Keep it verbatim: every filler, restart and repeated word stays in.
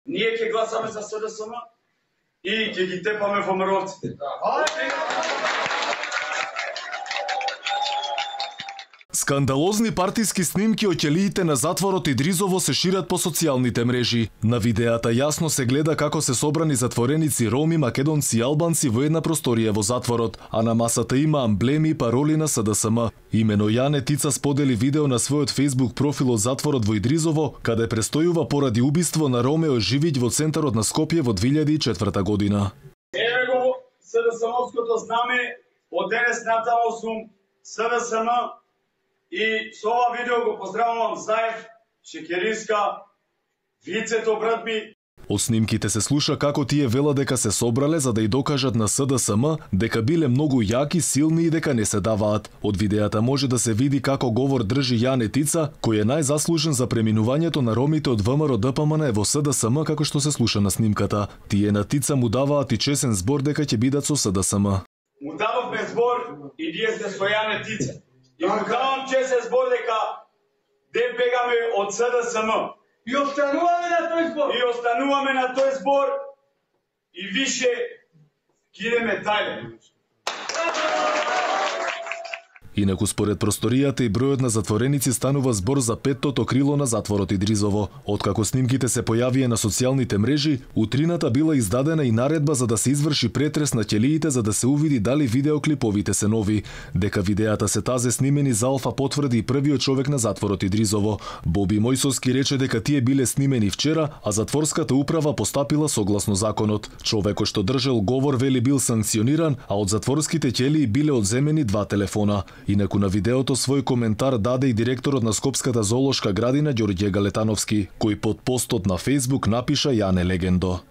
ние ќе гласаме за С Д С М и ќе ги тепаме ФМР-овците. Скандалозни партиски снимки од ќелиите на затворот Идризово се шират по социјалните мрежи. На видеата јасно се гледа како се собрани затвореници роми, македонци и албанци во една просторија во затворот, а на масата има амблеми и пароли на С Д С М. Имено Јане Тица сподели видео на својот Facebook профил од затворот во Идризово, каде престојува поради убиство на Ромео Живиќ во центарот на Скопје во две илјади и четврта година. Еве го С Д С М-овското знаме, од денес натаму сум С Д С М. И со ова видео го поздравувам Заев, Шекериска, Вицето, брат ми. Од снимките се слуша како тие велат дека се собрале за да и докажат на С Д С М дека биле многу јаки, силни и дека не се даваат. Од видеата може да се види како говор држи Јане Тица, кој е најзаслужен за преминувањето на ромите од ВМРО Д П М Н во С Д С М, како што се слуша на снимката. Тие на Тица му даваат и чесен збор дека ќе бидат со С Д С М. Му дававме збор и ние сме со Јане Тица. И му давам чесен збор дека де бегаме од С Д С М. И остануваме на тој збор. И остануваме на тој збор и више кидеме тајле. Инаку според просторијата и бројот на затвореници станува збор за петтото крило на затворот Идризово. Откако снимките се појавија на социјалните мрежи, утрината била издадена и наредба за да се изврши претрес на ќелиите за да се увиди дали видеоклиповите се нови. Дека видеата се тазе снимени за Алфа потврди и првиот човек на затворот Идризово. Боби Мојсовски рече дека тие биле снимени вчера, а затворската управа постапила согласно законот. Човекот што држел говор вели бил санкциониран, а од затворските ќелии биле одземени два телефона. Инаку на видеото свој коментар даде и директорот на Скопската зоолошка градина Ѓорѓе Галетановски, кој под постот на Facebook напиша Јане легендо.